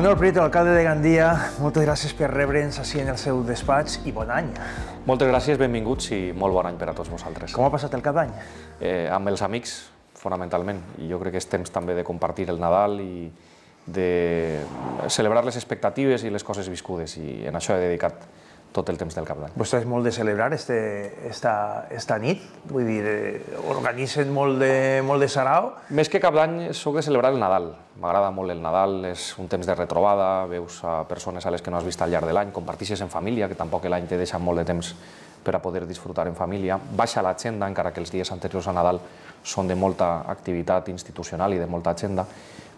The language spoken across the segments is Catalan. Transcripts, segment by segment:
Manuel Prieto, alcalde de Gandia, moltes gràcies per rebre'ns així en el seu despatx i bon any. Moltes gràcies, benvinguts i molt bon any per a tots vosaltres. Com ha passat el cap d'any? Amb els amics, fonamentalment, i jo crec que és temps també de compartir el Nadal i de celebrar les expectatives i les coses viscudes, i en això he dedicat tot el temps del cap d'any. Vostè és molt de celebrar esta nit? Vull dir, organitzen molt de sarau? Més que cap d'any, soc de celebrar el Nadal. M'agrada molt el Nadal, és un temps de retrobada, veus a persones a les que no has vist al llarg de l'any, compartixes en família, que tampoc l'any te deixa molt de temps per a poder disfrutar en família. Baixa l'agenda, encara que els dies anteriors a Nadal són de molta activitat institucional i de molta agenda,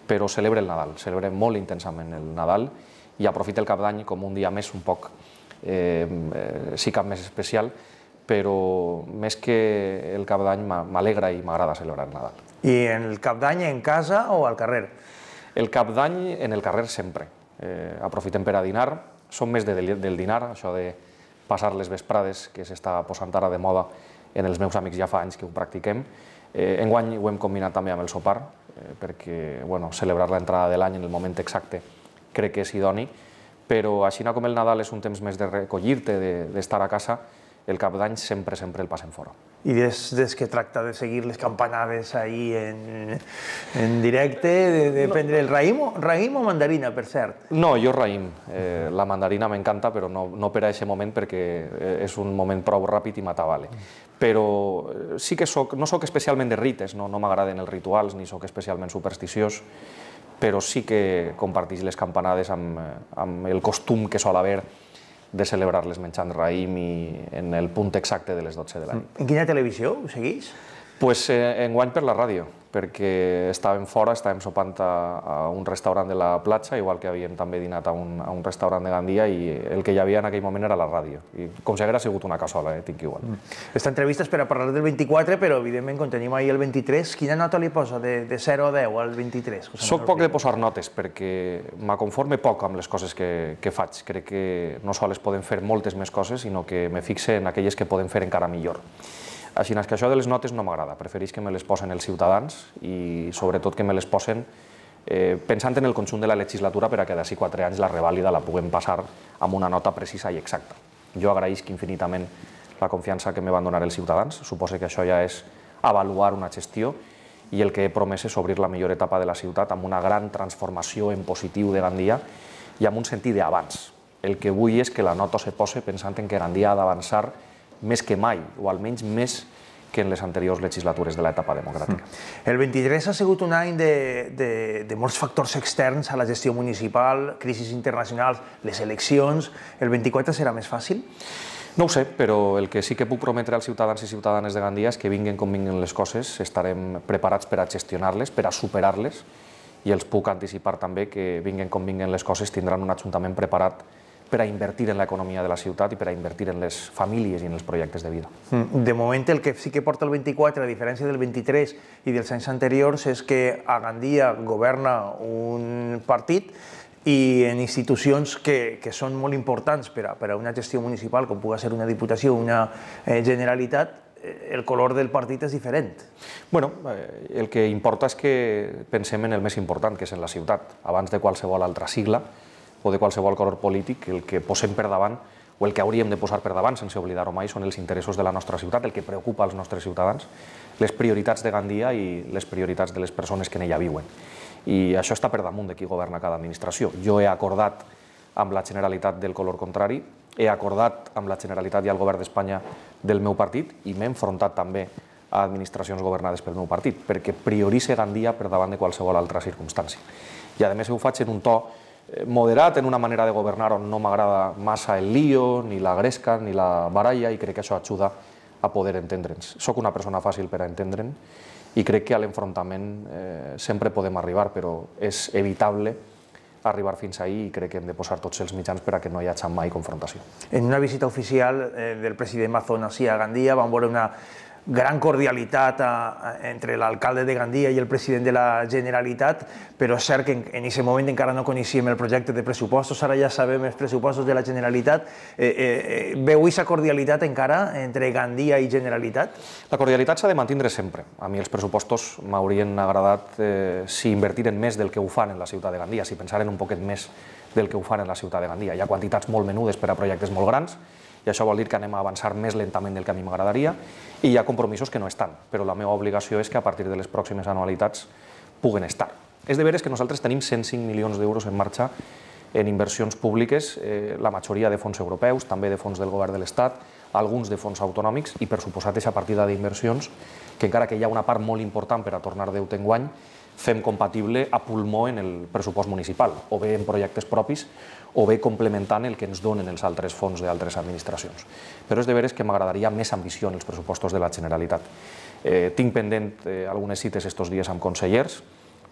però celebra el Nadal, celebra molt intensament el Nadal i aprofita el cap d'any com un dia més un poc sí cap més especial, però més que el cap d'any m'alegra i m'agrada celebrar el Nadal. I en el cap d'any en casa o al carrer? El cap d'any en el carrer sempre. Aprofitem per a dinar, som més del dinar, això de passar les vesprades que s'està posant ara de moda en els meus amics ja fa anys que ho practiquem. Enguany ho hem combinat també amb el sopar, perquè celebrar l'entrada de l'any en el moment exacte crec que és idoni, però així com el Nadal és un temps més de recollir-te, d'estar a casa, el cap d'any sempre el passem fora. I des que tracta de seguir les campanades ahí en directe, de prendre el raïm o mandarina, per cert? No, jo raïm. La mandarina m'encanta, però no per a aquest moment, perquè és un moment prou ràpid i m'atabale. Però sí que no soc especialment de rites, no m'agraden els rituals, ni soc especialment supersticiós, però sí que comparteix les campanades amb el costum que sol haver de celebrar-les menjant raïm i en el punt exacte de les 12 de la nit. En quina televisió ho segueix? Doncs enguany per la ràdio, perquè estàvem fora, estàvem sopant a un restaurant de la platja, igual que havíem també dinat a un restaurant de Gandia, i el que hi havia en aquell moment era la ràdio. I com si hagués sigut una cassola, tinc igual. Esta entrevista és per a parlar del 24, però evidentment quan tenim ahir el 23, quina nota li posa de 0 a 10 al 23? Soc poc de posar notes, perquè m'aconforme poc amb les coses que faig. Crec que no sols poden fer moltes més coses, sinó que me fixe en aquelles que poden fer encara millor. Així que això de les notes no m'agrada, prefereix que me les posen els ciutadans i sobretot que me les posen pensant en el conjunt de la legislatura per a que d'ací 4 anys la revàlida la puguem passar amb una nota precisa i exacta. Jo agraïsc infinitament la confiança que me van donar els ciutadans, suposo que això ja és avaluar una gestió i el que he promès és obrir la millor etapa de la ciutat amb una gran transformació en positiu de Gandia i amb un sentit d'avanç. El que vull és que la nota se posi pensant en que Gandia ha d'avançar més que mai, o almenys més que en les anteriors legislatures de l'etapa democràtica. El 23 ha sigut un any de molts factors externs a la gestió municipal, crisis internacionals, les eleccions. El 24 serà més fàcil? No ho sé, però el que sí que puc prometre als ciutadans i ciutadanes de Gandia és que vinguin com vinguin les coses, estarem preparats per a gestionar-les, per a superar-les, i els puc anticipar també que vinguin com vinguin les coses, tindran un ajuntament preparat per a invertir en l'economia de la ciutat i per a invertir en les famílies i en els projectes de vida. De moment, el que sí que porta el 24, a diferència del 23 i dels anys anteriors, és que a Gandia governa un partit i en institucions que són molt importants per a una gestió municipal, com pugui ser una diputació o una generalitat, el color del partit és diferent. Bueno, el que importa és que pensem en el més important, que és en la ciutat, abans de qualsevol altra sigla o de qualsevol color polític. El que posem per davant, o el que hauríem de posar per davant, sense oblidar-ho mai, són els interessos de la nostra ciutat, el que preocupa als nostres ciutadans, les prioritats de Gandia i les prioritats de les persones que en ella viuen. I això està per damunt de qui governa cada administració. Jo he acordat amb la Generalitat del color contrari, he acordat amb la Generalitat i el govern d'Espanya del meu partit i m'he enfrontat també a administracions governades pel meu partit, perquè prioritze Gandia per davant de qualsevol altra circumstància. I a més ho faig en un to moderat, en una manera de governar on no m'agrada massa el lío, ni la gresca, ni la baralla, i crec que això ajuda a poder entendre'ns. Soc una persona fàcil per a entendre'n i crec que a l'enfrontament sempre podem arribar, però és evitable arribar fins ahí i crec que hem de posar tots els mitjans per a que no hi hagi mai confrontació. En una visita oficial del president Mazón a Gandia vam veure gran cordialitat entre l'alcalde de Gandia i el president de la Generalitat, però és cert que en aquest moment encara no coneixíem el projecte de pressupostos, ara ja sabem els pressupostos de la Generalitat. Veu aquesta cordialitat encara entre Gandia i Generalitat? La cordialitat s'ha de mantindre sempre. A mi els pressupostos m'haurien agradat si invertiren més del que ho fan en la ciutat de Gandia, si pensaren un poquet més del que ho fan en la ciutat de Gandia. Hi ha quantitats molt menudes per a projectes molt grans, i això vol dir que anem a avançar més lentament del que a mi m'agradaria, i hi ha compromisos que no estan, però la meva obligació és que a partir de les pròximes anualitats puguen estar. És de veres que nosaltres tenim 105 milions d'euros en marxa en inversions públiques, la majoria de fons europeus, també de fons del govern de l'Estat, alguns de fons autonòmics, i per suposat aquesta partida d'inversions, que encara que hi ha una part molt important per a tornar deute enguany, fem compatible a pulmó en el pressupost municipal, o bé en projectes propis, o bé complementant el que ens donen els altres fons d'altres administracions. Però és de veres que m'agradaria més ambició en els pressupostos de la Generalitat. Tinc pendent algunes cites estos dies amb consellers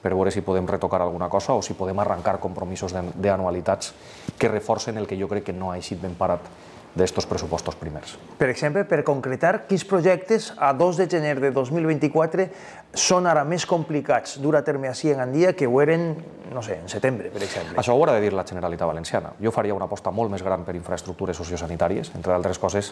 per veure si podem retocar alguna cosa o si podem arrencar compromisos d'anualitats que reforcen el que jo crec que no ha eixit ben parat d'estos pressupostos primers. Per exemple, per concretar, quins projectes a 2 de gener de 2024 són ara més complicats dur a terme així en Gandia que ho eren, no sé, en setembre, per exemple? Això ho haurà de dir la Generalitat Valenciana. Jo faria una aposta molt més gran per infraestructures sociosanitàries, entre d'altres coses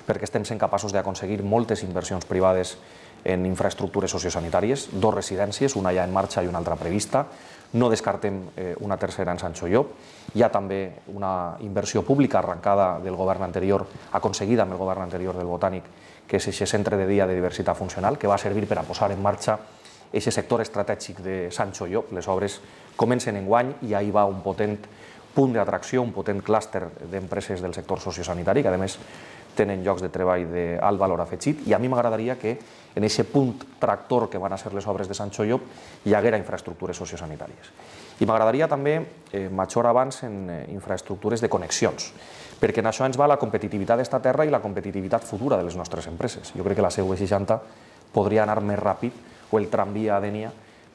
perquè estem sent capaços d'aconseguir moltes inversions privades en infraestructures sociosanitàries, 2 residències, una ja en marxa i una altra prevista. No descartem una tercera en Sancho Llop. Hi ha també una inversió pública arrencada del govern anterior, aconseguida amb el govern anterior del Botànic, que és aquest centre de dia de diversitat funcional, que va servir per a posar en marxa aquest sector estratègic de Sancho Llop. Les obres comencen enguany i ahí va un potent punt d'atracció, un potent clúster d'empreses del sector sociosanitari, que a més tenen llocs de treball d'alt valor afegit, i a mi m'agradaria que en aquest punt tractor que van a ser les obres de Sancho Llop hi haguera infraestructures sociosanitàries. I m'agradaria també major avanç en infraestructures de connexions, perquè en això ens va la competitivitat d'esta terra i la competitivitat futura de les nostres empreses. Jo crec que la CV60 podria anar més ràpid, o el tramvia a Dénia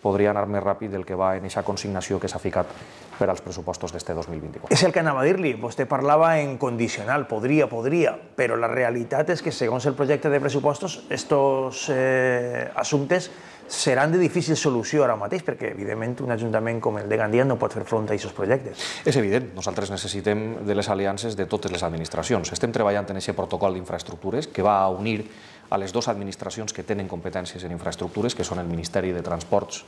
podria anar més ràpid del que va en aquesta consignació que s'ha ficat per als pressupostos d'este 2024. És el que anava a dir-li. Vostè parlava en condicional, podria, però la realitat és que, segons el projecte de pressupostos, estos assumptes seran de difícil solució ara mateix, perquè, evidentment, un ajuntament com el de Gandia no pot fer front a aquests projectes. És evident. Nosaltres necessitem de les aliances de totes les administracions. Estem treballant en aquest protocol d'infraestructures que va a unir a les 2 administracions que tenen competències en infraestructures, que són el Ministeri de Transports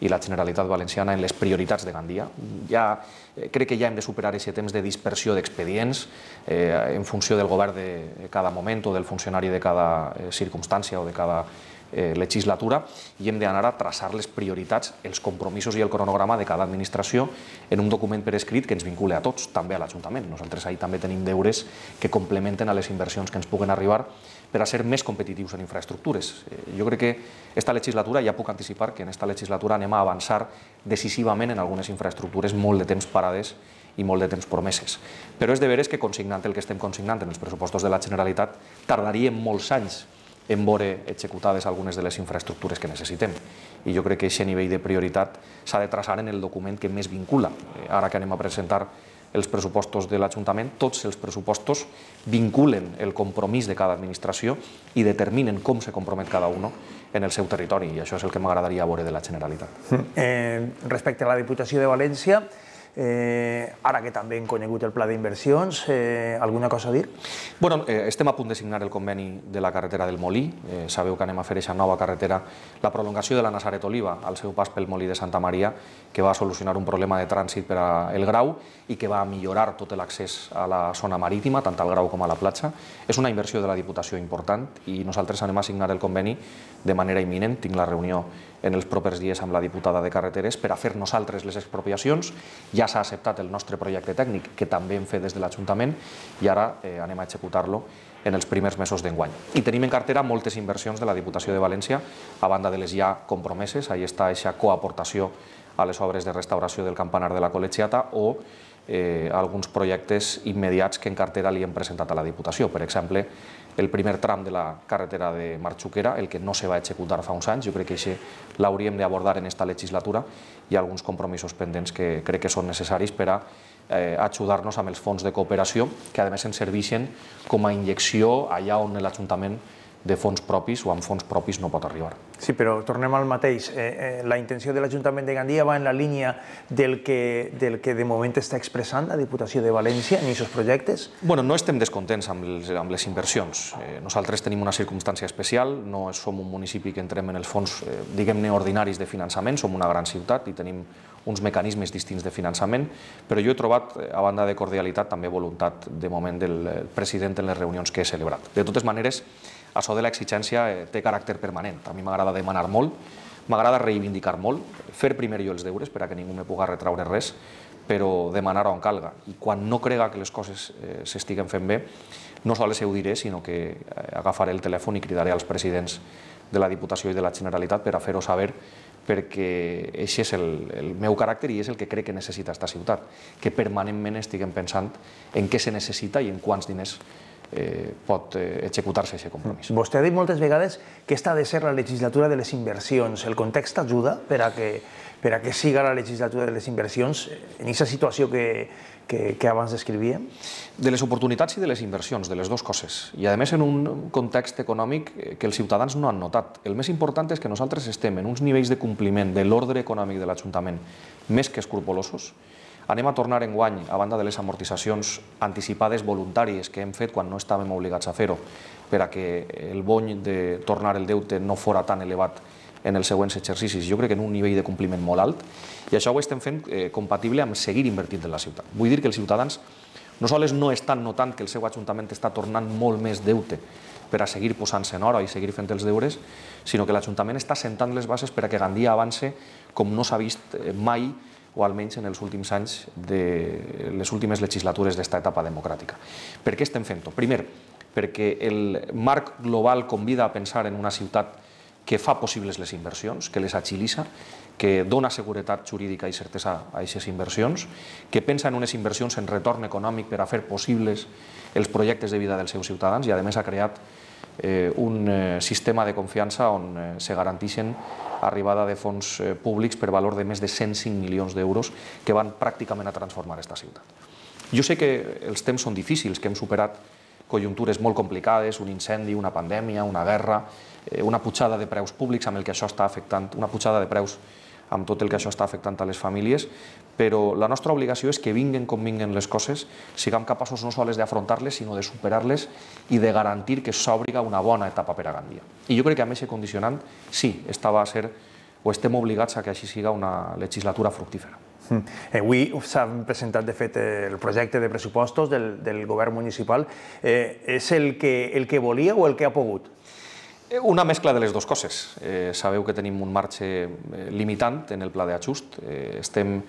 i la Generalitat Valenciana, en les prioritats de Gandia. Crec que ja hem de superar aquest temps de dispersió d'expedients en funció del govern de cada moment o del funcionari de cada circumstància o de cada legislatura, i hem d'anar a traçar les prioritats, els compromisos i el cronograma de cada administració en un document per escrit que ens vincule a tots, també a l'Ajuntament. Nosaltres ahí també tenim deures que complementen a les inversions que ens puguen arribar per a ser més competitius en infraestructures. Jo crec que esta legislatura, ja puc anticipar que en esta legislatura anem a avançar decisivament en algunes infraestructures molt de temps parades i molt de temps promeses. Però és de veres que consignant el que estem consignant en els pressupostos de la Generalitat tardaríem molts anys en veure executades algunes de les infraestructures que necessitem. I jo crec que aquest nivell de prioritat s'ha de traçar en el document que més vincula. Ara que anem a presentar els pressupostos de l'Ajuntament, tots els pressupostos vinculen el compromís de cada administració i determinen com se compromet cada un en el seu territori, i això és el que m'agradaria veure de la Generalitat. Respecte a la Diputació de València, ara que també hem conegut el pla d'inversions, alguna cosa a dir? Estem a punt de signar el conveni de la carretera del Molí. Sabeu que anem a fer aquesta nova carretera, la prolongació de la Nazaret Oliva al seu pas pel Molí de Santa Maria, que va solucionar un problema de trànsit per al Grau i que va millorar tot l'accés a la zona marítima, tant al Grau com a la platja. És una inversió de la Diputació important i nosaltres anem a signar el conveni de manera imminent. Tinc la reunió en els propers dies amb la diputada de Carreteres per a fer nosaltres les expropiacions. Ja s'ha acceptat el nostre projecte tècnic, que també hem fet des de l'Ajuntament, i ara anem a executar-lo en els primers mesos d'enguany. I tenim en cartera moltes inversions de la Diputació de València, a banda de les ja compromeses. Ahí està aquesta coaportació a les obres de restauració del campanar de la Col·legiata o alguns projectes immediats que en cartera li hem presentat a la Diputació. Per exemple, el primer tram de la carretera de Marxuquera, el que no se va executar fa uns anys, jo crec que això l'hauríem d'abordar en esta legislatura, i alguns compromisos pendents que crec que són necessaris per a ajudar-nos amb els fons de cooperació, que a més ens serveixen com a injecció allà on l'Ajuntament de fons propis o amb fons propis no pot arribar. Sí, però tornem al mateix. La intenció de l'Ajuntament de Gandia va en la línia del que de moment està expressant la Diputació de València en aquests projectes? Bueno, no estem descontents amb les inversions. Nosaltres tenim una circumstància especial, no som un municipi que entrem en els fons, diguem-ne, ordinaris de finançament, som una gran ciutat i tenim uns mecanismes distints de finançament, però jo he trobat, a banda de cordialitat, també voluntat, de moment, del president en les reunions que he celebrat. De totes maneres, això de l'exigència té caràcter permanent. A mi m'agrada demanar molt, m'agrada reivindicar molt, fer primer jo els deures per a que ningú me pugui retraure res, però demanar on calga. I quan no crega que les coses s'estiguen fent bé, no sols ho diré, sinó que agafaré el telèfon i cridaré als presidents de la Diputació i de la Generalitat per a fer-ho saber, perquè aquest és el meu caràcter i és el que crec que necessita aquesta ciutat, que permanentment estiguem pensant en què se necessita i en quants diners pot executar-se aquest compromís. Vostè ha dit moltes vegades que aquesta ha de ser la legislatura de les inversions. El context ajuda per a que siga la legislatura de les inversions en aquesta situació que abans descrivíem? De les oportunitats i de les inversions, de les dues coses. I a més en un context econòmic que els ciutadans no han notat. El més important és que nosaltres estem en uns nivells de compliment de l'ordre econòmic de l'Ajuntament més que escrupolosos. Anem a tornar enguany, a banda de les amortitzacions anticipades voluntàries que hem fet quan no estàvem obligats a fer-ho, per a que el bony de tornar el deute no fora tan elevat en els següents exercicis. Jo crec que en un nivell de compliment molt alt, i això ho estem fent compatible amb seguir invertint en la ciutat. Vull dir que els ciutadans no sols no estan notant que el seu ajuntament està tornant molt més deute per a seguir posant-se en hora i seguir fent els deures, sinó que l'Ajuntament està sentant les bases per a que Gandia avance com no s'ha vist mai, o almenys en els últims anys de les últimes legislatures d'esta etapa democràtica. Per què estem fent-ho? Primer, perquè el marc global convida a pensar en una ciutat que fa possibles les inversions, que les agilitza, que dona seguretat jurídica i certesa a aquestes inversions, que pensa en unes inversions en retorn econòmic per a fer possibles els projectes de vida dels seus ciutadans i, a més, ha creat un sistema de confiança on se garanteixen arribada de fons públics per valor de més de 105 milions d'euros que van pràcticament a transformar aquesta ciutat. Jo sé que els temps són difícils, que hem superat conjuntures molt complicades, un incendi, una pandèmia, una guerra, una pujada de preus públics amb el que això està afectant, una pujada de preus amb tot el que això està afectant a les famílies, però la nostra obligació és que vinguen com vinguen les coses, siguem capaços no sols d'afrontar-les, sinó de superar-les i de garantir que s'obriga una bona etapa per a Gandia. I jo crec que amb aquest condicionant, sí, estem obligats a que així siga una legislatura fructífera. Avui s'ha presentat, de fet, el projecte de pressupostos del govern municipal. És el que volia o el que ha pogut? Una mescla de les dues coses. Sabeu que tenim un marge limitant en el pla d'ajust. Estem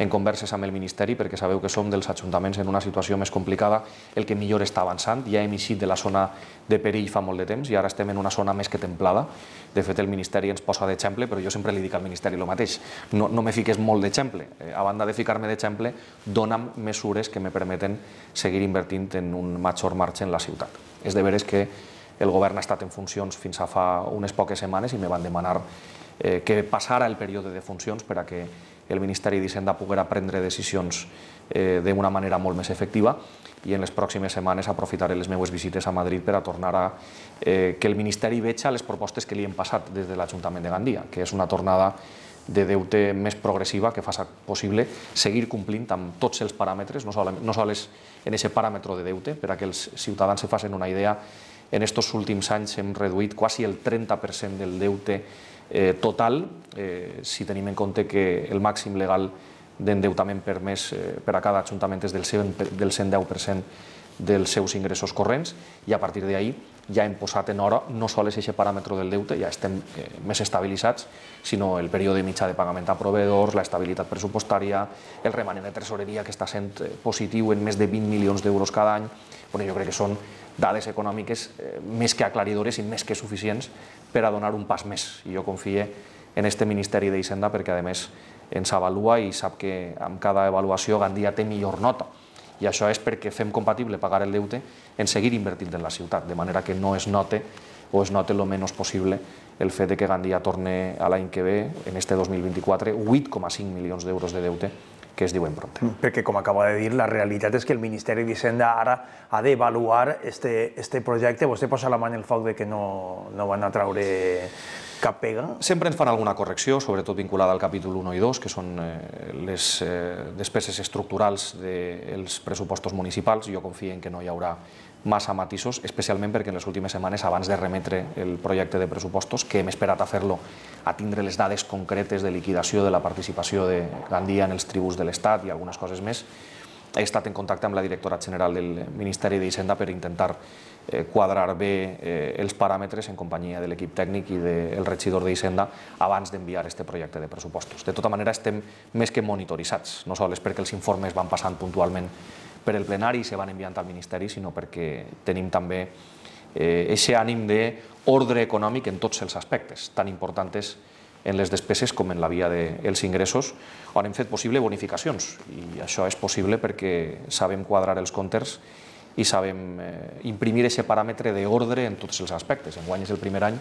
en converses amb el Ministeri perquè sabeu que som dels ajuntaments en una situació més complicada, el que millor està avançant. Ja hem eixit de la zona de perill fa molt de temps i ara estem en una zona més que templada. De fet, el Ministeri ens posa d'exemple, però jo sempre li dic al Ministeri el mateix. No me fiques molt d'exemple. A banda de ficar-me d'exemple, dona'm mesures que me permeten seguir invertint en un major marge en la ciutat. És de veres que el govern ha estat en funcions fins a fa unes poques setmanes i me van demanar que passara el període de funcions per a que el Ministeri d'Hisenda poguera prendre decisions d'una manera molt més efectiva i en les pròximes setmanes aprofitaré les meves visites a Madrid per a tornar a que el Ministeri veja les propostes que li hem passat des de l'Ajuntament de Gandia, que és una tornada de deute més progressiva que faci possible seguir complint amb tots els paràmetres, no sols en aquest paràmetre de deute, per a que els ciutadans se facin una idea. En aquests últims anys hem reduït quasi el 30% del deute total, si tenim en compte que el màxim legal d'endeutament permès per a cada ajuntament és del 110% dels seus ingressos corrents, i a partir d'ahir ja hem posat en hora no sols aquest paràmetre del deute, ja estem més estabilitzats, sinó el període mitjà de pagament a proveïdors, l'estabilitat pressupostària, el remanent de tresoreria que està sent positiu en més de 20 milions d'euros cada any. Jo crec que són dades econòmiques més que aclaridores i més que suficients per a donar un pas més. I jo confio en aquest Ministeri d'Hisenda perquè, a més, ens avalua i sap que amb cada avaluació Gandia té millor nota. I això és perquè fem compatible pagar el deute en seguir invertint en la ciutat, de manera que no es note o es note el menys possible el fet que Gandia torni a l'any que ve, en este 2024, 8,5 milions d'euros de deute que es diuen prompte. Perquè, com acaba de dir, la realitat és que el Ministeri d'Hisenda ara ha d'avaluar este projecte. Vostè posa la mà en el foc de que no van a traure cap pega? Sempre ens fan alguna correcció, sobretot vinculada al capítol 1 i 2, que són les despeses estructurals dels pressupostos municipals. Jo confio en que no hi haurà massa matisos, especialment perquè en les últimes setmanes, abans de remetre el projecte de pressupostos, que hem esperat a fer-lo, a tindre les dades concretes de liquidació de la participació de Gandia en els tributs de l'Estat i algunes coses més, he estat en contacte amb la directora general del Ministeri d'Hisenda per intentar quadrar bé els paràmetres en companyia de l'equip tècnic i del regidor d'Hisenda abans d'enviar aquest projecte de pressupostos. De tota manera, estem més que monitoritzats, no sols perquè els informes van passant puntualment per el plenari i se van enviant al Ministeri, sinó perquè tenim també aquest ànim d'ordre econòmic en tots els aspectes, tan importants en les despeses com en la via dels ingressos, on hem fet possible bonificacions. I això és possible perquè sabem quadrar els comptes i sabem imprimir aquest paràmetre d'ordre en tots els aspectes. Enguany és el primer any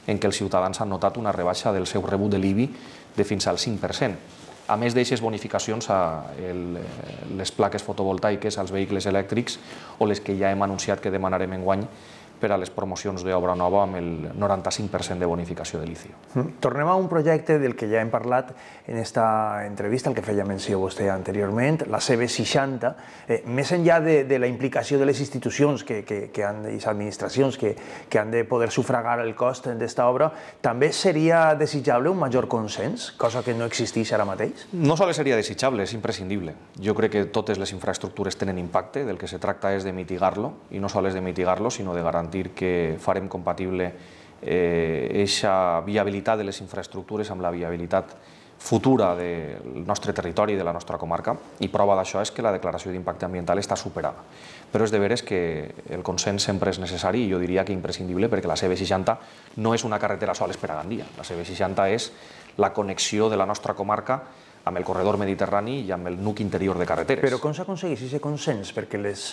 en què els ciutadans han notat una rebaixa del seu rebut de l'IBI de fins al 5%. A més d'aquestes bonificacions a les plaques fotovoltaiques, als vehicles elèctrics o les que ja hem anunciat que demanarem enguany per a les promocions d'obra nova amb el 95% de bonificació de l'ICIO. Tornem a un projecte del que ja hem parlat en aquesta entrevista, el que feia menció vostè anteriorment, la CB60. Més enllà de la implicació de les institucions i les administracions que han de poder sufragar el cost d'esta obra, també seria desitjable un major consens, cosa que no existeix ara mateix? No sols seria desitjable, és imprescindible. Jo crec que totes les infraestructures tenen impacte, del que se tracta és de mitigar-lo, i no sols de mitigar-lo, sinó de garantir que farem compatible aquesta viabilitat de les infraestructures amb la viabilitat futura del nostre territori i de la nostra comarca, i prova d'això és que la declaració d'impacte ambiental està superada. Però és de veres que el consens sempre és necessari i jo diria que imprescindible, perquè la CB60 no és una carretera sols per a Gandia. La CB60 és la connexió de la nostra comarca amb el corredor mediterrani i amb el nuc interior de carreteres. Però com s'aconsegueix aquest consens? Perquè les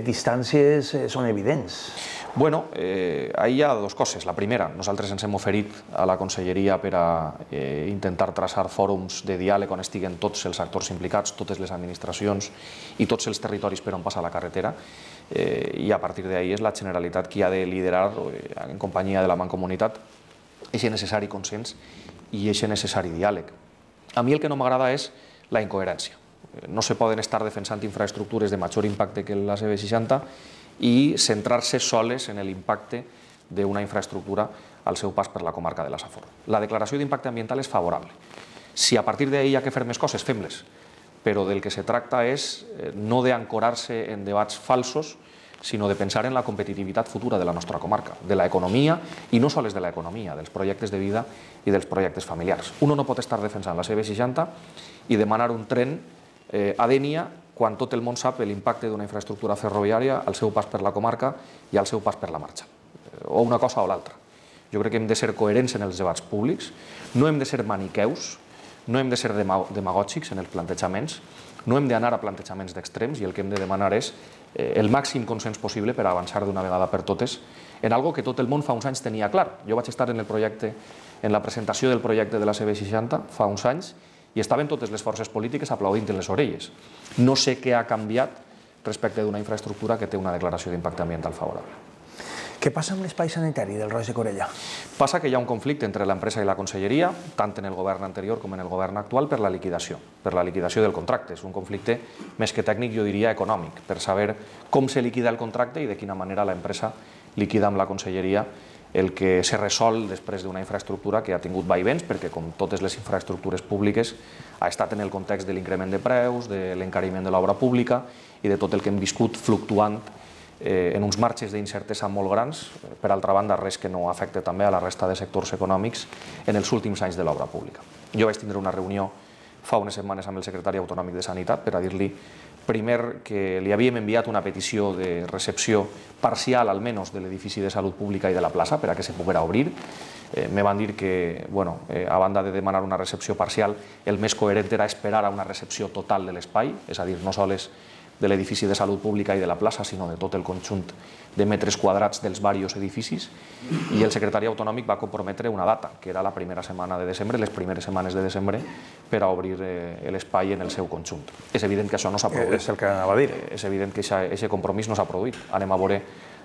distàncies són evidents. Bueno, ahí hi ha dues coses. La primera, nosaltres ens hem oferit a la Conselleria per a intentar traçar fòrums de diàleg on estiguen tots els actors implicats, totes les administracions i tots els territoris per on passa la carretera, i a partir d'ahí és la Generalitat qui ha de liderar, en companyia de la Mancomunitat, aquest necessari consens i aquest necessari diàleg. A mi el que no m'agrada és la incoherència. No se poden estar defensant infraestructures de major impacte que la CB60 i centrar-se soles en l'impacte d'una infraestructura al seu pas per la comarca de la Safor. La declaració d'impacte ambiental és favorable. Si a partir d'ahí hi ha que fer més coses, fem-les. Però del que se tracta és no d'ancorar-se en debats falsos, sinó de pensar en la competitivitat futura de la nostra comarca, de l'economia, i no sols de l'economia, dels projectes de vida i dels projectes familiars. Uno no pot estar defensant la CB60 i demanar un tren a Dénia quan tot el món sap l'impacte d'una infraestructura ferroviària al seu pas per la comarca i al seu pas per la marxa, o una cosa o l'altra. Jo crec que hem de ser coherents en els debats públics, no hem de ser maniqueus, no hem de ser demagògics en els plantejaments, no hem d'anar a plantejaments d'extrems i el que hem de demanar és el màxim consens possible per avançar d'una vegada per totes en algo que tot el món fa uns anys tenia clar. Jo vaig estar en la presentació del projecte de la CB60 fa uns anys i estaven totes les forces polítiques aplaudint en les orelles. No sé què ha canviat respecte d'una infraestructura que té una declaració d'impacte ambiental favorable. Què passa amb l'espai sanitari del Roig de Corella? Passa que hi ha un conflicte entre l'empresa i la conselleria, tant en el govern anterior com en el govern actual, per la liquidació del contracte. És un conflicte més que tècnic, jo diria econòmic, per saber com se liquida el contracte i de quina manera l'empresa liquida amb la conselleria el que se resol després d'una infraestructura que ha tingut vaivens, perquè com totes les infraestructures públiques ha estat en el context de l'increment de preus, de l'encariment de l'obra pública i de tot el que hem viscut fluctuant en uns marges d'incertesa molt grans, per altra banda res que no afecta també a la resta de sectors econòmics en els últims anys de l'obra pública. Jo vaig tindre una reunió fa unes setmanes amb el secretari autonòmic de Sanitat per a dir-li primer que li havíem enviat una petició de recepció parcial almenys de l'edifici de salut pública i de la plaça per a que se poguera obrir. Me van dir que, a banda de demanar una recepció parcial, el més coherent era esperar a una recepció total de l'espai, és a dir, no sols de l'edifici de salut pública i de la plaça, sinó de tot el conjunt de metres quadrats dels diversos edificis, i el secretari autonòmic va comprometre una data, que era la primera setmana de desembre, les primeres setmanes de desembre, per a obrir l'espai en el seu conjunt. És evident que això no s'ha produït. És el que anava a dir. És evident que aquest compromís no s'ha produït. Anem a veure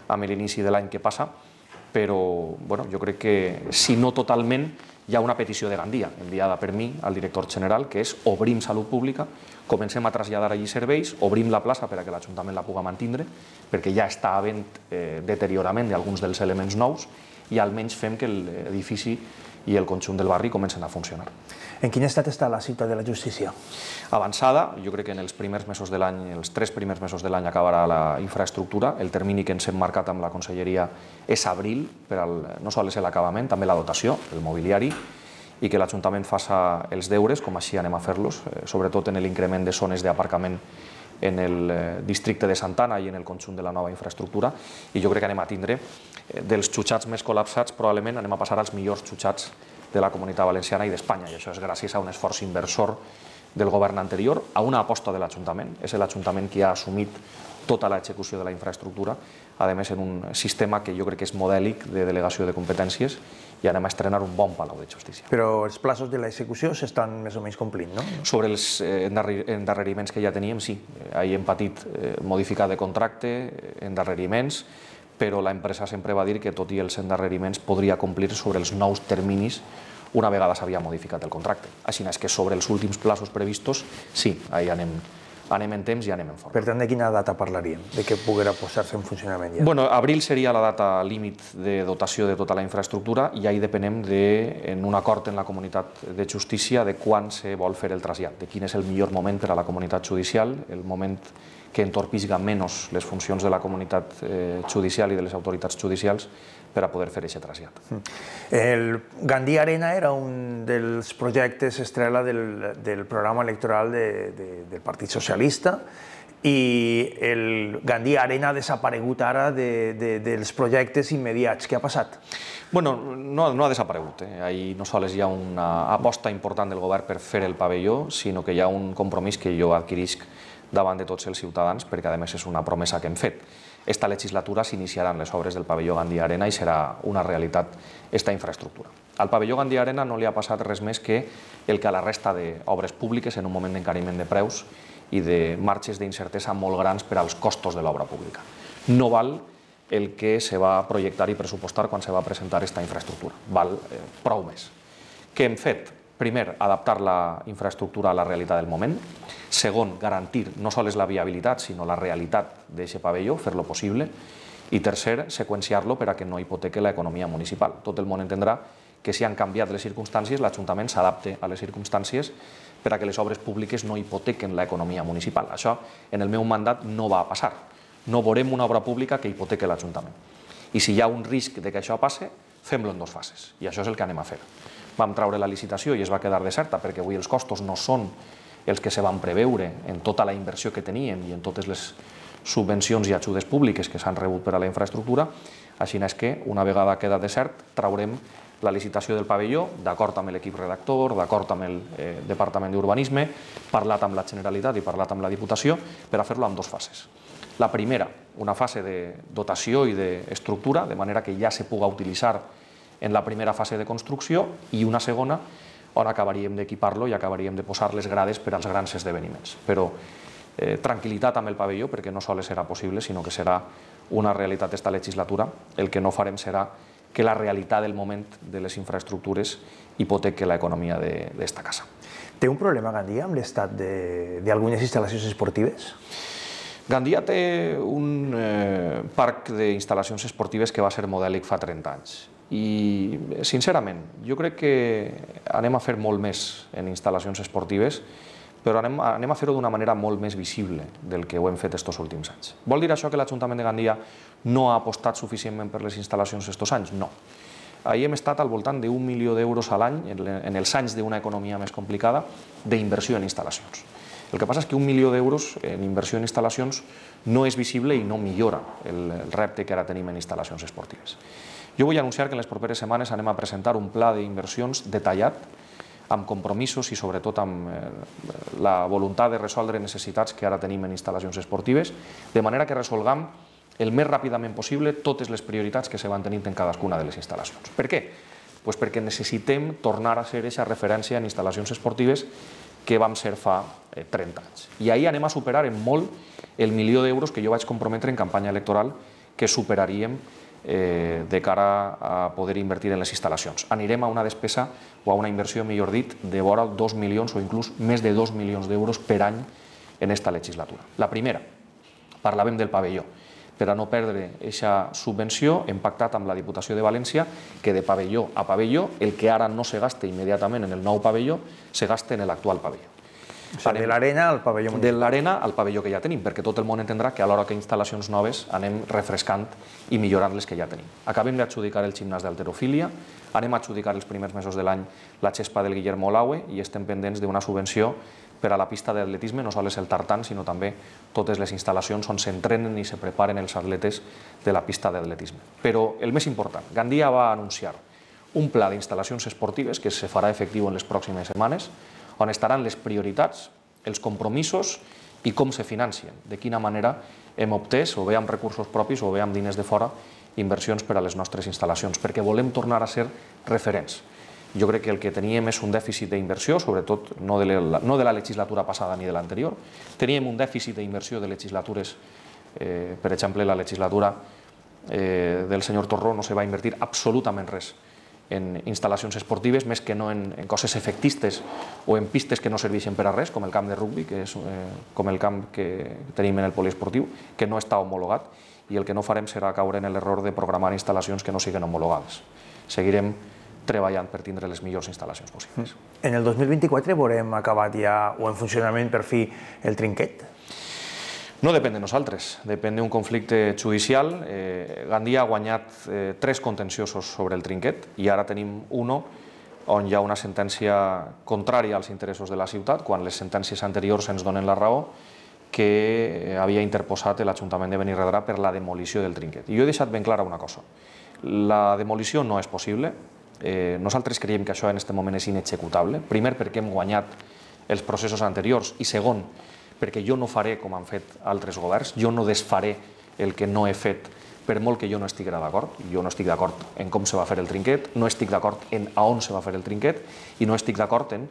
amb l'inici de l'any què passa, però jo crec que, si no totalment, hi ha una petició de Gandia, enviada per mi al director general, que és obrim salut pública, comencem a traslladar allí serveis, obrim la plaça per a que l'Ajuntament la pugui mantindre, perquè ja està havent deteriorament d'alguns dels elements nous, i almenys fem que l'edifici i el conjunt del barri comencen a funcionar. En quin estat està la ciutat de la justícia? Avançada, jo crec que en els primers mesos de l'any, els 3 primers mesos de l'any acabarà la infraestructura. El termini que ens hem marcat amb la conselleria és abril, per no sols l'acabament, també la dotació, el mobiliari, i que l'Ajuntament faça els deures, com així anem a fer-los, sobretot en l'increment de zones d'aparcament en el districte de Santana i en el conjunt de la nova infraestructura, i jo crec que anem a tindre dels xutxats més col·lapsats, probablement anem a passar als millors xutxats de la Comunitat Valenciana i d'Espanya, i això és gràcies a un esforç inversor del govern anterior, a una aposta de l'Ajuntament. És l'Ajuntament qui ha assumit tota l'execució de la infraestructura, a més en un sistema que jo crec que és modèlic de delegació de competències, i anem a estrenar un bon Palau de Justícia. Però els plaços de l'execució s'estan més o menys complint, no? Sobre els endarreriments que ja teníem, sí. Ahir hem patit modificar de contracte, endarreriments, però l'empresa sempre va dir que, tot i els endarreriments, podria complir sobre els nous terminis una vegada s'havia modificat el contracte. Així és que sobre els últims plaços previstos, sí, ahir anem en temps i anem en forma. Per tant, de quina data parlaríem? De què poguera posar-se en funcionament ja? Bueno, abril seria la data límit de dotació de tota la infraestructura, i ahir depenem en un acord en la Comunitat de Justícia de quan se vol fer el trasllat, de quin és el millor moment per a la comunitat judicial, el moment que entorpisga menys les funcions de la comunitat judicial i de les autoritats judicials per a poder fer aquest trasllat. El Gandia Arena era un dels projectes estrella del programa electoral del Partit Socialista, i el Gandia Arena ha desaparegut ara dels projectes immediats. Què ha passat? Bueno, no ha desaparegut. Ahir no sols hi ha una aposta important del govern per fer el pavelló, sinó que hi ha un compromís que jo adquirisc davant de tots els ciutadans, perquè a més és una promesa que hem fet. Esta legislatura s'iniciaran les obres del pavelló Gandia Arena i serà una realitat esta infraestructura. Al pavelló Gandia Arena no li ha passat res més que el que a la resta d'obres públiques, en un moment d'encariment de preus i de marges d'incertesa molt grans per als costos de l'obra pública. No val el que se va projectar i pressupostar quan se va presentar aquesta infraestructura. Val prou més. Què hem fet? Primer, adaptar la infraestructura a la realitat del moment. Segon, garantir no sols la viabilitat, sinó la realitat d'aquest pavelló, fer-lo possible. I tercer, seqüenciar-lo per a que no hipoteque l'economia municipal. Tot el món entendrà que si han canviat les circumstàncies, l'Ajuntament s'adapta a les circumstàncies per a que les obres públiques no hipotequen l'economia municipal. Això, en el meu mandat, no va passar. No veurem una obra pública que hipoteque l'Ajuntament. I si hi ha un risc de que això passe, fem-lo en 2 fases. I això és el que anem a fer. Vam treure la licitació i es va quedar deserta perquè avui els costos no són els que se van preveure en tota la inversió que teníem i en totes les subvencions i ajudes públiques que s'han rebut per a la infraestructura. Així és que, una vegada queda desert, traurem la licitació del pavelló, d'acord amb l'equip redactor, d'acord amb el Departament d'Urbanisme, parlat amb la Generalitat i parlat amb la Diputació, per a fer-lo en 2 fases. La primera, una fase de dotació i d'estructura, de manera que ja se pugui utilitzar en la primera fase de construcció, i una segona on acabaríem d'equipar-lo i acabaríem de posar les grades per als grans esdeveniments. Però tranquil·litat amb el pavelló, perquè no sols serà possible, sinó que serà una realitat esta legislatura. El que no farem serà que la realitat del moment de les infraestructures hipoteque l'economia d'esta casa. Té un problema Gandia amb l'estat d'algunes instal·lacions esportives? Gandia té un parc d'instal·lacions esportives que va ser modèlic fa 30 anys. I, sincerament, jo crec que anem a fer molt més en instal·lacions esportives, però anem a fer-ho d'una manera molt més visible del que ho hem fet estos últims anys. Vol dir això que l'Ajuntament de Gandia no ha apostat suficientment per les instal·lacions estos anys? No. Ahir hem estat al voltant d'1 milió d'euros a l'any, en els anys d'una economia més complicada, d'inversió en instal·lacions. El que passa és que 1 milió d'euros en inversió en instal·lacions no és visible i no millora el repte que ara tenim en instal·lacions esportives. Jo vull anunciar que en les properes setmanes anem a presentar un pla d'inversions detallat amb compromisos i sobretot amb la voluntat de resoldre necessitats que ara tenim en instal·lacions esportives, de manera que resolguem el més ràpidament possible totes les prioritats que se van tenint en cadascuna de les instal·lacions. Per què? Pues perquè necessitem tornar a ser aquesta referència en instal·lacions esportives que vam ser fa 30 anys. I ahir anem a superar en molt el 1.000.000 d'euros que jo vaig comprometre en campanya electoral que superaríem de cara a poder invertir en les instal·lacions. Anirem a una despesa o a una inversió, millor dit, de vora 2 milions o inclús més de 2 milions d'euros per any en esta legislatura. La primera, parlàvem del pavelló. Per a no perdre aquesta subvenció, hem pactat amb la Diputació de València que de pavelló a pavelló, el que ara no se gasta immediatament en el nou pavelló, se gasta en l'actual pavelló. O sigui, de l'arena al pavelló municipal. De l'arena al pavelló que ja tenim, perquè tot el món entendrà que alhora que instal·lacions noves anem refrescant i millorant les que ja tenim. Acabem d'adjudicar el gimnàs d'halterofília, anem a adjudicar els primers mesos de l'any la xespa del Guillermo Olaue i estem pendents d'una subvenció per a la pista d'atletisme, no sols el tartan, sinó també totes les instal·lacions on s'entrenen i se preparen els atletes de la pista d'atletisme. Però el més important, Gandia va anunciar un pla d'instal·lacions esportives que se farà efectiu en les pròximes setmanes, on estaran les prioritats, els compromisos i com se financien, de quina manera hem obtès, o bé amb recursos propis o bé amb diners de fora, inversions per a les nostres instal·lacions, perquè volem tornar a ser referents. Jo crec que el que teníem és un dèficit d'inversió, sobretot no de la legislatura passada ni de l'anterior. Teníem un dèficit d'inversió de legislatures, per exemple, la legislatura del senyor Torró no se va invertir absolutament res en instal·lacions esportives, més que no en coses efectistes o en pistes que no serveixen per a res, com el camp de rugbi, que és com el camp que tenim en el poliesportiu, que no està homologat, i el que no farem serà caure en l'error de programar instal·lacions que no siguin homologades. Seguirem treballant per tindre les millors instal·lacions possibles. En el 2024 veurem acabat ja o en funcionament per fi el trinquet? No depèn de nosaltres, depèn d'un conflicte judicial. Gandia ha guanyat 3 contenciosos sobre el trinquet i ara tenim uno on hi ha una sentència contrària als interessos de la ciutat, quan les sentències anteriors ens donen la raó, que havia interposat l'Ajuntament de Benirredrà per la demolició del trinquet. I jo he deixat ben clara una cosa. La demolició no és possible. Nosaltres creiem que això en aquest moment és inexecutable. Primer, perquè hem guanyat els processos anteriors i segon, perquè jo no faré com han fet altres governs, jo no desfaré el que no he fet per molt que jo no estigui d'acord. Jo no estic d'acord en com se va fer el trinquet, no estic d'acord en a on se va fer el trinquet i no estic d'acord en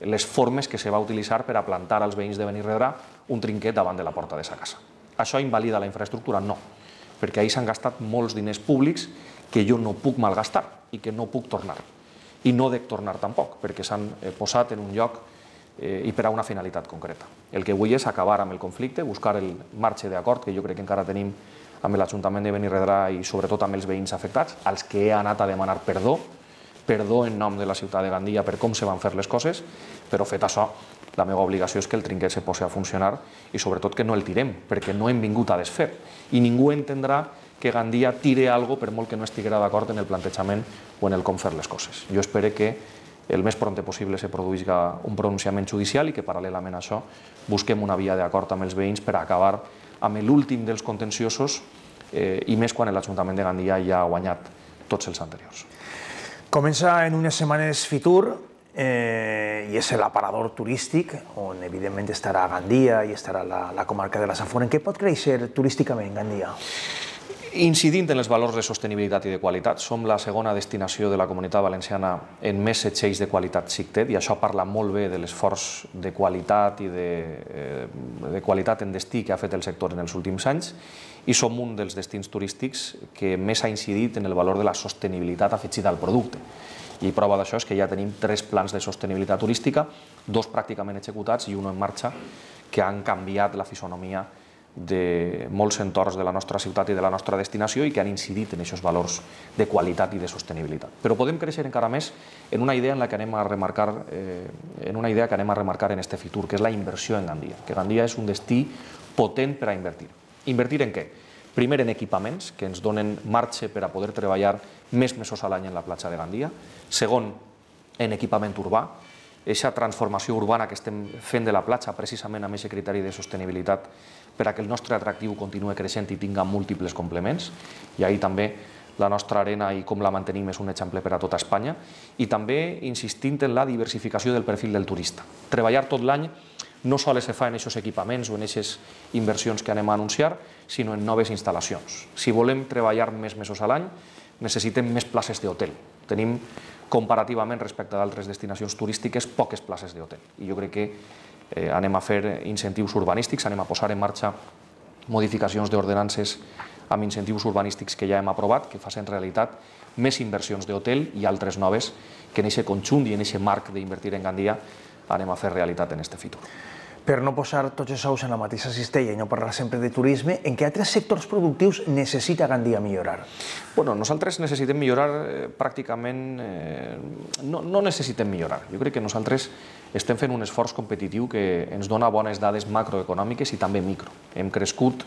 les formes que se va utilitzar per a plantar als veïns de Benirredrà un trinquet davant de la porta de sa casa. Això invalida la infraestructura? No, perquè ahir s'han gastat molts diners públics que jo no puc malgastar i que no puc tornar. I no dec tornar tampoc, perquè s'han posat en un lloc i per a una finalitat concreta. El que vull és acabar amb el conflicte, buscar el marge d'acord que jo crec que encara tenim amb l'Ajuntament de Benirredrà i sobretot amb els veïns afectats, als que he anat a demanar perdó en nom de la ciutat de Gandia per com se van fer les coses, però fet això, la meva obligació és que el trinquet se posi a funcionar i sobretot que no el tirem, perquè no hem vingut a desfer. I ningú entendrà que Gandia tire alguna cosa per molt que no estiguera d'acord en el plantejament o en el com fer les coses. Jo espero que el més pront possible se produeixi un pronunciament judicial i que paral·lelament a això busquem una via d'acord amb els veïns per acabar amb l'últim dels contenciosos i més quan l'Ajuntament de Gandia ja ha guanyat tots els anteriors. Comença en unes setmanes Fitur i és l'aparador turístic on evidentment estarà Gandia i estarà la comarca de la Safor. En què pot créixer turísticament Gandia? Incidint en els valors de sostenibilitat i de qualitat, som la segona destinació de la Comunitat Valenciana en més setxells de qualitat SICTED i això parla molt bé de l'esforç de qualitat i de qualitat en destí que ha fet el sector en els últims anys i som un dels destins turístics que més ha incidit en el valor de la sostenibilitat afegida al producte. I prova d'això és que ja tenim 3 plans de sostenibilitat turística, 2 pràcticament executats i un en marxa, que han canviat la fisonomia de molts entorns de la nostra ciutat i de la nostra destinació i que han incidit en aquests valors de qualitat i de sostenibilitat. Però podem créixer encara més en una idea que anem a remarcar en este Fitur, que és la inversió en Gandia, que Gandia és un destí potent per a invertir. Invertir en què? Primer en equipaments, que ens donen marge per a poder treballar més mesos a l'any en la platja de Gandia. Segon, en equipament urbà, aquesta transformació urbana que estem fent de la platja precisament amb aquest criteri de sostenibilitat per a que el nostre atractiu continue creixent i tinga múltiples complements. I ahir també la nostra arena i com la mantenim és un exemple per a tota Espanya, i també insistint en la diversificació del perfil del turista. Treballar tot l'any no sols se fa en aquests equipaments o en aquestes inversions que anem a anunciar, sinó en noves instal·lacions. Si volem treballar més mesos a l'any, necessitem més places d'hotel. Tenim, comparativament respecte a d'altres destinacions turístiques, poques places d'hotel. I jo crec que anem a fer incentius urbanístics, anem a posar en marxa modificacions d'ordenances amb incentius urbanístics que ja hem aprovat, que facin realitat més inversions d'hotel i altres noves que en aquest conjunt i en aquest marc d'invertir en Gandia anem a fer realitat en aquest futur. Per no posar tots els ous en la mateixa cistella i no parlar sempre de turisme, en què altres sectors productius necessita Gandia millorar? Bueno, nosaltres necessitem millorar pràcticament... No necessitem millorar. Jo crec que nosaltres estem fent un esforç competitiu que ens dona bones dades macroeconòmiques i també micro. Hem crescut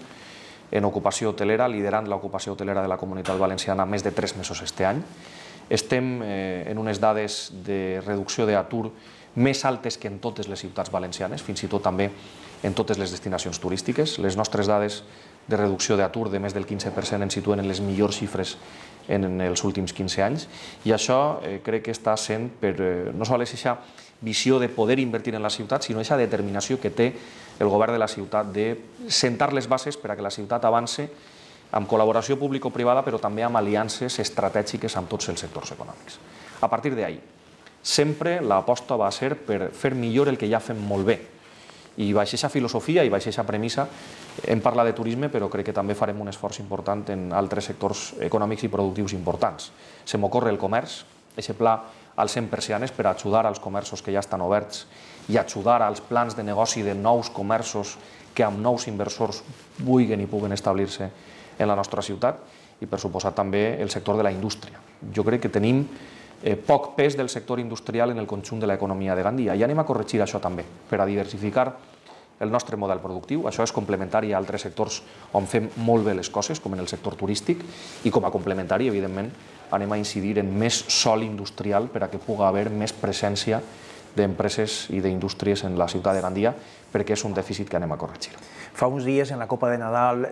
en ocupació hotelera, liderant l'ocupació hotelera de la Comunitat Valenciana més de 3 mesos este any. Estem en unes dades de reducció d'atur més altes que en totes les ciutats valencianes, fins i tot també en totes les destinacions turístiques. Les nostres dades de reducció d'atur de més del 15% ens situen en les millors xifres en els últims 15 anys, i això crec que està sent per no sols aquesta visió de poder invertir en la ciutat, sinó aquesta determinació que té el govern de la ciutat de sentar les bases per a que la ciutat avance amb col·laboració público-privada, però també amb aliances estratègiques amb tots els sectors econòmics. A partir d'ahí, sempre l'aposta va ser per fer millor el que ja fem molt bé. I baix aquesta filosofia i baix aquesta premissa hem parlat de turisme, però crec que també farem un esforç important en altres sectors econòmics i productius importants. Se m'ocorre el comerç, aquest pla als 100 persianes per ajudar als comerços que ja estan oberts i ajudar als plans de negoci de nous comerços que amb nous inversors vulguin i puguen establir-se en la nostra ciutat, i per suposat també el sector de la indústria. Jo crec que tenim poc pes del sector industrial en el conjunt de l'economia de Gandia, i anem a corregir això també, per a diversificar el nostre model productiu. Això és complementari a altres sectors on fem molt bé les coses, com en el sector turístic, i com a complementari, evidentment, anem a incidir en més sòl industrial per a que pugui haver més presència d'empreses i d'indústries en la ciutat de Gandia, perquè és un dèficit que anem a corregir. Fa uns dies, en la Copa de Nadal,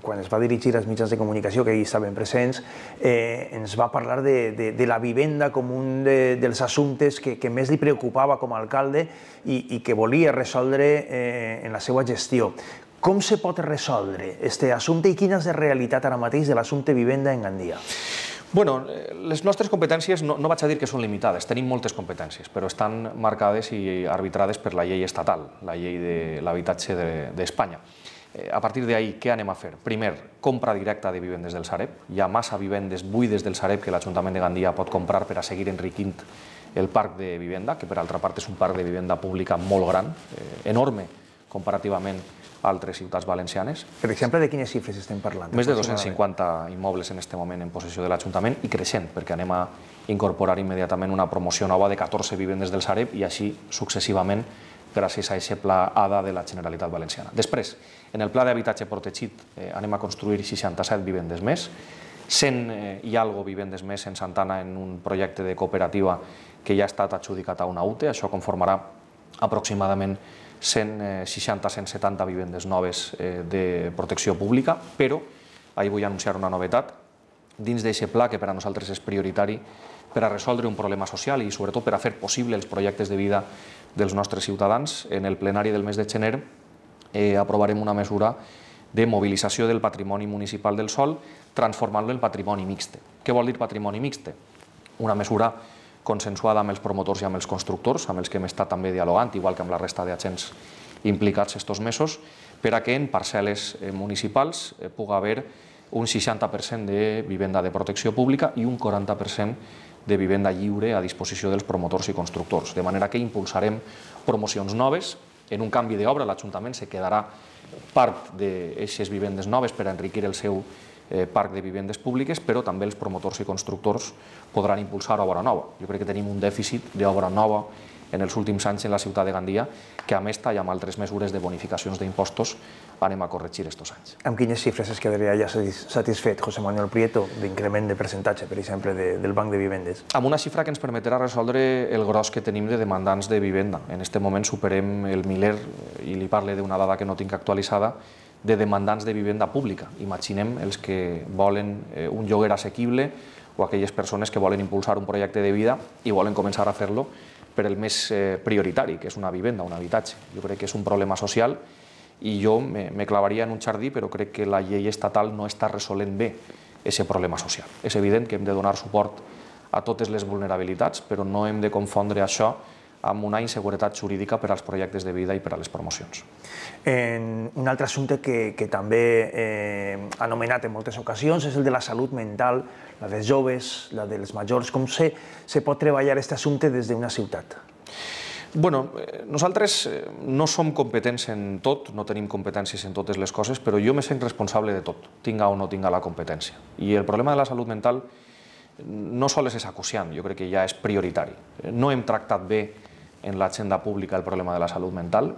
quan es va dirigir als mitjans de comunicació, que hi estaven presents, ens va parlar de la vivenda com un dels assumptes que més li preocupava com a alcalde i que volia resoldre en la seva gestió. Com se pot resoldre aquest assumpte i quina és la realitat ara mateix de l'assumpte vivenda en Gandia? Bueno, les nostres competències no vaig a dir que són limitades, tenim moltes competències, però estan marcades i arbitrades per la llei estatal, la llei de l'habitatge d'Espanya. A partir d'ahí, què anem a fer? Primer, compra directa de vivendes del Sareb. Hi ha massa vivendes buides del Sareb que l'Ajuntament de Gandia pot comprar per a seguir enriquint el parc de vivenda, que per altra part és un parc de vivenda pública molt gran, enorme comparativament a altres ciutats valencianes. Per exemple, de quines xifres estem parlant? Més de 250 immobles en aquest moment en possessió de l'Ajuntament, i creixent, perquè anem a incorporar immediatament una promoció nova de 14 vivendes del Sareb i així successivament gràcies a aquest pla ADA de la Generalitat Valenciana. Després, en el pla d'habitatge protegit anem a construir 67 vivendes més, 100 i algo vivendes més en Santana en un projecte de cooperativa que ja ha estat adjudicat a una UTE. Això conformarà aproximadament 160-170 vivendes noves de protecció pública, però ahir vull anunciar una novetat dins d'aquest pla que per a nosaltres és prioritari per a resoldre un problema social i sobretot per a fer possible els projectes de vida dels nostres ciutadans. En el plenari del mes de gener aprovarem una mesura de mobilització del patrimoni municipal del sòl transformant-lo en patrimoni mixte. Què vol dir patrimoni mixte? Una mesura consensuada amb els promotors i amb els constructors, amb els que hem estat també dialogant, igual que amb la resta d'agents implicats estos mesos, per a que en parcel·les municipals pugui haver un 60% de vivenda de protecció pública i un 40% de vivenda lliure a disposició dels promotors i constructors. De manera que impulsarem promocions noves. En un canvi d'obra l'Ajuntament se quedarà part d'aquestes vivendes noves per a enriquir el seu parc de vivendes públiques, però també els promotors i constructors podran impulsar obra nova. Jo crec que tenim un dèficit d'obra nova en els últims anys en la ciutat de Gandia, que amb esta i amb altres mesures de bonificacions d'impostos anem a corregir estos anys. Amb quines xifres es quedaria ja satisfet José Manuel Prieto d'increment de percentatge, per exemple, del banc de vivendes? Amb una xifra que ens permetrà resoldre el gros que tenim de demandants de vivenda. En aquest moment superem el miler, i li parle d'una dada que no tinc actualitzada, de demandants de vivenda pública. Imaginem els que volen un lloguer assequible o aquelles persones que volen impulsar un projecte de vida i volen començar a fer-lo per el més prioritari, que és una vivenda, un habitatge. Jo crec que és un problema social i jo me clavaria en un jardí, però crec que la llei estatal no està resolent bé aquest problema social. És evident que hem de donar suport a totes les vulnerabilitats, però no hem de confondre això amb una inseguretat jurídica per als projectes de vida i per a les promocions. Un altre assumpte que també ha anomenat en moltes ocasions és el de la salut mental, la dels joves, la dels majors. Com se pot treballar aquest assumpte des d'una ciutat? Bueno, nosaltres no som competents en tot, no tenim competències en totes les coses, però jo me sent responsable de tot, tinga o no tinga la competència. I el problema de la salut mental no sols és acuciant, jo crec que ja és prioritari. No hem tractat bé en l'agenda pública el problema de la salut mental,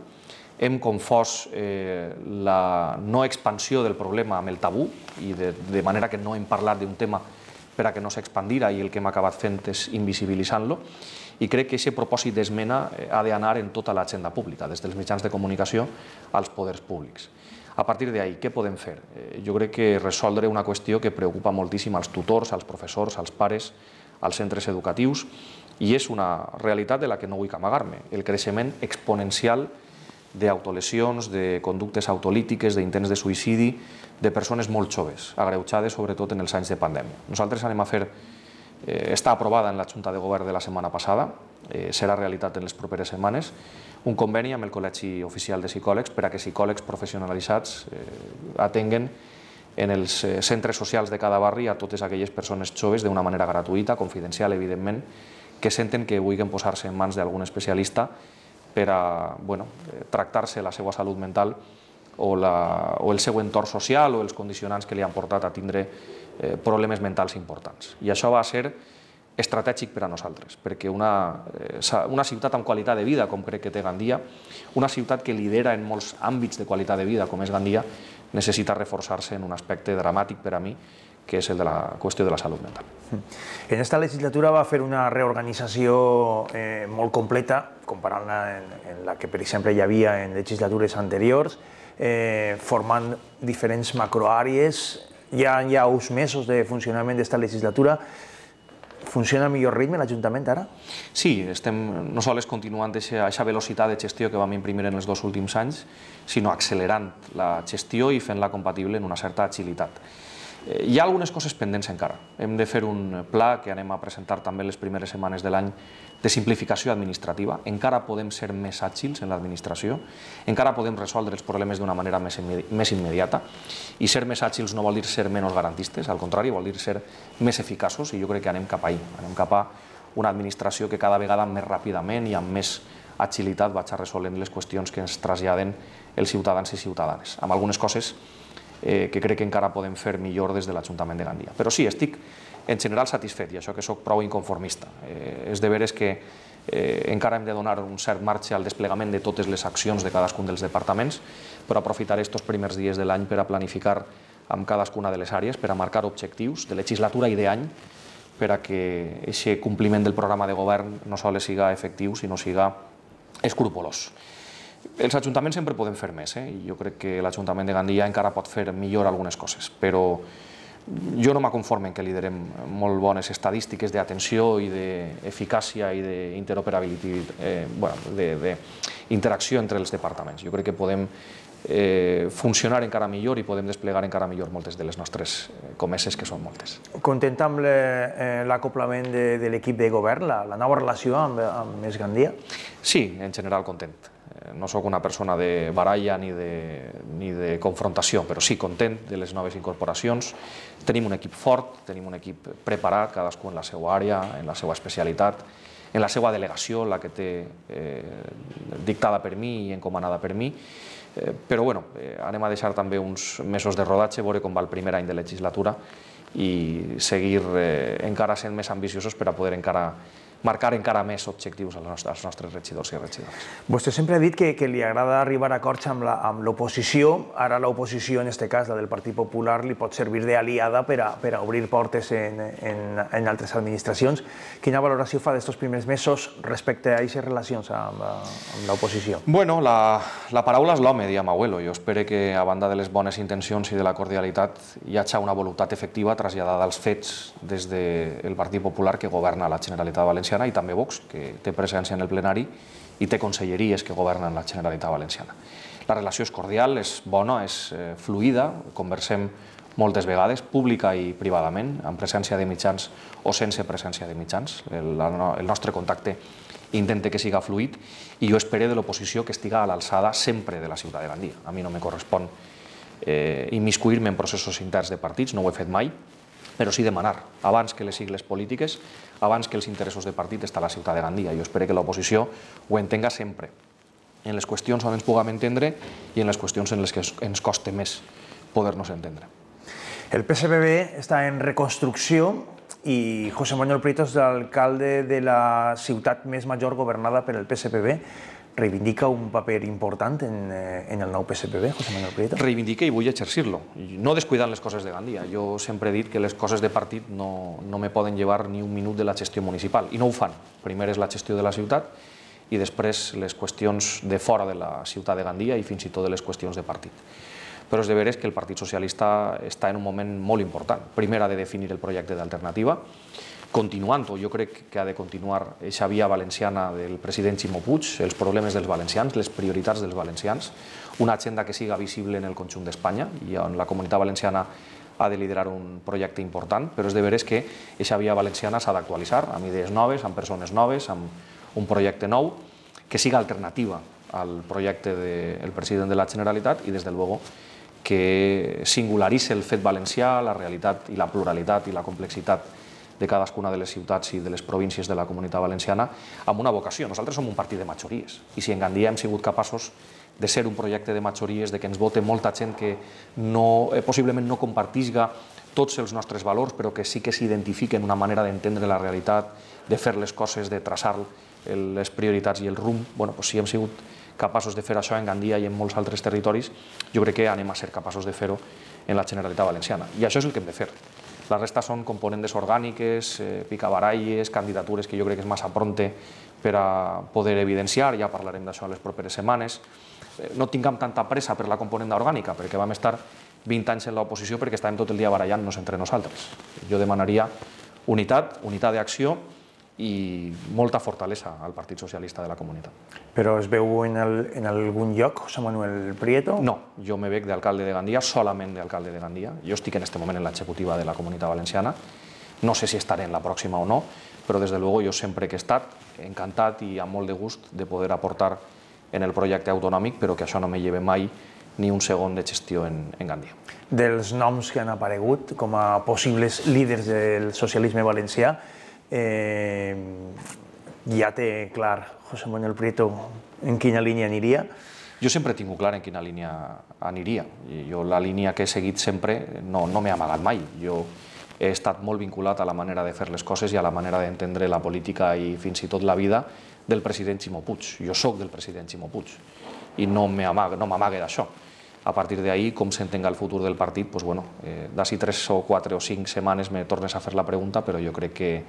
hem confós la no expansió del problema amb el tabú, i de manera que no hem parlat d'un tema per a que no s'expandira i el que hem acabat fent és invisibilitzant-lo, i crec que aquest propòsit d'esmena ha d'anar en tota l'agenda pública, des dels mitjans de comunicació als poders públics. A partir d'ahí, què podem fer? Jo crec que resoldre una qüestió que preocupa moltíssim als tutors, als professors, als pares, als centres educatius, i és una realitat de la que no vull amagar-me, el creixement exponencial d'autolesions, de conductes autolítiques, d'intents de suïcidi, de persones molt joves, agreujades sobretot en els anys de pandèmia. Nosaltres anem a fer, està aprovada en la Junta de Govern de la setmana passada, serà realitat en les properes setmanes, un conveni amb el Col·legi Oficial de Psicòlegs per a que psicòlegs professionalitzats atenguen en els centres socials de cada barri a totes aquelles persones joves d'una manera gratuïta, confidencial, evidentment, que senten que vulguin posar-se en mans d'algun especialista per a tractar-se la seva salut mental o el seu entorn social o els condicionants que li han portat a tindre problemes mentals importants. I això va ser estratègic per a nosaltres, perquè una ciutat amb qualitat de vida, com crec que té Gandia, una ciutat que lidera en molts àmbits de qualitat de vida, com és Gandia, necessita reforçar-se en un aspecte dramàtic per a mi, que és el de la qüestió de la salut mental. En aquesta legislatura va fer una reorganització molt completa, comparant-la en la que, per exemple, hi havia en legislatures anteriors, formant diferents macroàrees. Ja hi ha uns mesos de funcionament d'esta legislatura. Funciona a millor ritme l'Ajuntament ara? Sí, estem no sols continuant aquesta velocitat de gestió que vam imprimir en els 2 últims anys, sinó accelerant la gestió i fent-la compatible en una certa agilitat. Hi ha algunes coses pendents encara. Hem de fer un pla que anem a presentar també les primeres setmanes de l'any de simplificació administrativa. Encara podem ser més àgils en l'administració, encara podem resoldre els problemes d'una manera més immediata, i ser més àgils no vol dir ser menys garantistes, al contrari, vol dir ser més eficaços, i jo crec que anem cap ahí. Anem cap a una administració que cada vegada més ràpidament i amb més agilitat vaig resolent les qüestions que ens traslladen els ciutadans i ciutadanes, amb algunes coses que crec que encara podem fer millor des de l'Ajuntament de Gandia. Però sí, estic en general satisfet, i això que soc prou inconformista. És de veres que encara hem de donar un cert marge al desplegament de totes les accions de cadascun dels departaments, però aprofitaré aquests primers dies de l'any per a planificar amb cadascuna de les àrees, per a marcar objectius de legislatura i d'any, per a que aquest compliment del programa de govern no sols siga efectiu, sinó siga escrupolós. Els ajuntaments sempre poden fer més, i jo crec que l'Ajuntament de Gandia encara pot fer millor algunes coses, però jo no m'aconforme en que liderem molt bones estadístiques d'atenció i d'eficàcia i d'interacció entre els departaments. Jo crec que podem funcionar encara millor i podem desplegar encara millor moltes de les nostres comeses, que són moltes. Content amb l'acoplament de l'equip de govern, la nova relació amb Més Gandia? Sí, en general content. No sóc una persona de baralla ni de confrontació, però sí content de les noves incorporacions. Tenim un equip fort, tenim un equip preparat, cadascú en la seva àrea, en la seva especialitat, en la seva delegació, la que té dictada per mi i encomanada per mi. Però anem a deixar també uns mesos de rodatge, veure com va el primer any de legislatura i seguir encara sent més ambiciosos per a poder encara marcar encara més objectius als nostres regidors i regidores. Vostè sempre ha dit que li agrada arribar a acords amb l'oposició. Ara l'oposició, en aquest cas la del Partit Popular, li pot servir d'aliada per a obrir portes en altres administracions. Quina valoració fa d'estos primers mesos respecte a aquestes relacions amb l'oposició? Bueno, la paraula és l'home, diria Abuelo. Jo espero que, a banda de les bones intencions i de la cordialitat, hi hagi una voluntat efectiva traslladada als fets des del Partit Popular que governa la Generalitat Valenciana i també Vox, que té presència en el plenari i té conselleries que governen la Generalitat Valenciana. La relació és cordial, és bona, és fluida, conversem moltes vegades, pública i privadament, amb presència de mitjans o sense presència de mitjans. El nostre contacte intenta que siga fluid i jo espero de l'oposició que estiga a l'alçada sempre de la ciutat de Gandia. A mi no me correspon immiscuir-me en processos interns de partits, no ho he fet mai, però sí demanar, abans que les sigles polítiques, abans que els interessos de partit, està la ciutat de Gandia. Jo espero que l'oposició ho entenga sempre, en les qüestions on ens puguem entendre i en les qüestions en les que ens costa més poder-nos entendre. El PSPB està en reconstrucció i José Manuel Prieto és l'alcalde de la ciutat més major governada per el PSPB. Reivindica un paper important en el nou PSPB, José Manuel Prieto? Reivindica i vull exercir-lo, no descuidant les coses de Gandia. Jo sempre he dit que les coses de partit no me poden llevar ni un minut de la gestió municipal, i no ho fan. Primer és la gestió de la ciutat i després les qüestions de fora de la ciutat de Gandia i fins i tot de les qüestions de partit. Però és de veres que el Partit Socialista està en un moment molt important. Primer ha de definir el projecte d'alternativa, continuant-ho, jo crec que ha de continuar aquesta via valenciana del president Ximo Puig, els problemes dels valencians, les prioritats dels valencians, una agenda que siga visible en el conjunt d'Espanya i on la Comunitat Valenciana ha de liderar un projecte important, però és de veres que aquesta via valenciana s'ha d'actualitzar amb idees noves, amb persones noves, amb un projecte nou, que siga alternativa al projecte del president de la Generalitat i, des de luego, que singularitzi el fet valencià, la realitat i la pluralitat i la complexitat de cadascuna de les ciutats i de les províncies de la Comunitat Valenciana amb una vocació. Nosaltres som un partit de majories i si en Gandia hem sigut capaços de ser un projecte de majories, de que ens vote molta gent que possiblement no compartisca tots els nostres valors, però que sí que s'identifiquen una manera d'entendre la realitat, de fer les coses, de traçar les prioritats i el rumb. Si hem sigut capaços de fer això en Gandia i en molts altres territoris, jo crec que anem a ser capaços de fer-ho en la Generalitat Valenciana. I això és el que hem de fer. La resta són components orgàniques, picabaralles, candidatures que jo crec que és massa pronte per a poder evidenciar, ja parlarem d'això en les properes setmanes. No tinguem tanta pressa per la component orgànica, perquè vam estar 20 anys en l'oposició perquè estàvem tot el dia barallant-nos entre nosaltres. Jo demanaria unitat d'acció i molta fortalesa al Partit Socialista de la Comunitat. Però es veu en algun lloc, José Manuel Prieto? No, jo me veig d'alcalde de Gandia, solament d'alcalde de Gandia. Jo estic en aquest moment en l'executiva de la Comunitat Valenciana. No sé si estaré en la pròxima o no, però des de luego jo sempre que he estat encantat i amb molt de gust de poder aportar en el projecte autonòmic, però que això no me lleve mai ni un segon de gestió en Gandia. Dels noms que han aparegut com a possibles líders del socialisme valencià, ja té clar José Manuel Prieto en quina línia aniria? Jo sempre he tingut clar en quina línia aniria. Jo la línia que he seguit sempre no m'he amagat mai. Jo he estat molt vinculat a la manera de fer les coses i a la manera d'entendre la política i fins i tot la vida del president Ximo Puig. Jo soc del president Ximo Puig i no m'amague d'això. A partir d'ahí, com s'entenga el futur del partit, d'ací 3 o 4 o 5 setmanes me tornes a fer la pregunta, però jo crec que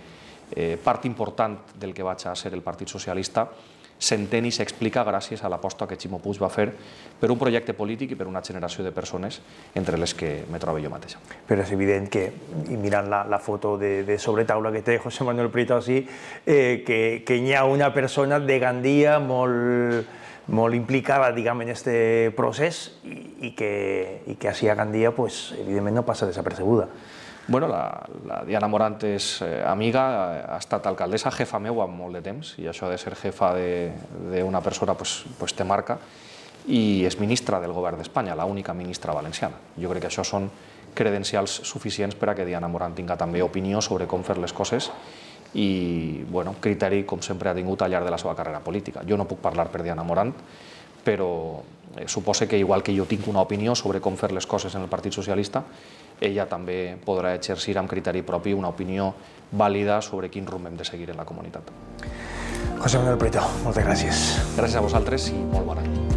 part important del que vaig a ser el Partit Socialista s'entén i s'explica gràcies a l'aposta que Ximo Puig va fer per un projecte polític i per una generació de persones entre les que me trobo jo mateixa. Però és evident que, i mirant la foto de sobretaula que té José Manuel Prieto així, que hi ha una persona de Gandia molt implicada, diguem, en aquest procés i que així a Gandia, evidentment, no passa desapercebuda. Bueno, la Diana Morant és amiga, ha estat alcaldessa, jefa meu amb molt de temps, i això de ser jefa d'una persona te marca, i és ministra del govern d'Espanya, l'única ministra valenciana. Jo crec que això són credencials suficients per a que Diana Morant tinga també opinió sobre com fer les coses i criteri, com sempre, ha tingut al llarg de la seva carrera política. Jo no puc parlar per Diana Morant, però suposa que igual que jo tinc una opinió sobre com fer les coses en el Partit Socialista, ella també podrà exercir amb criteri propi una opinió vàlida sobre quin rumb hem de seguir en la comunitat. José Manuel Prieto, moltes gràcies. Gràcies a vosaltres i molt bon any.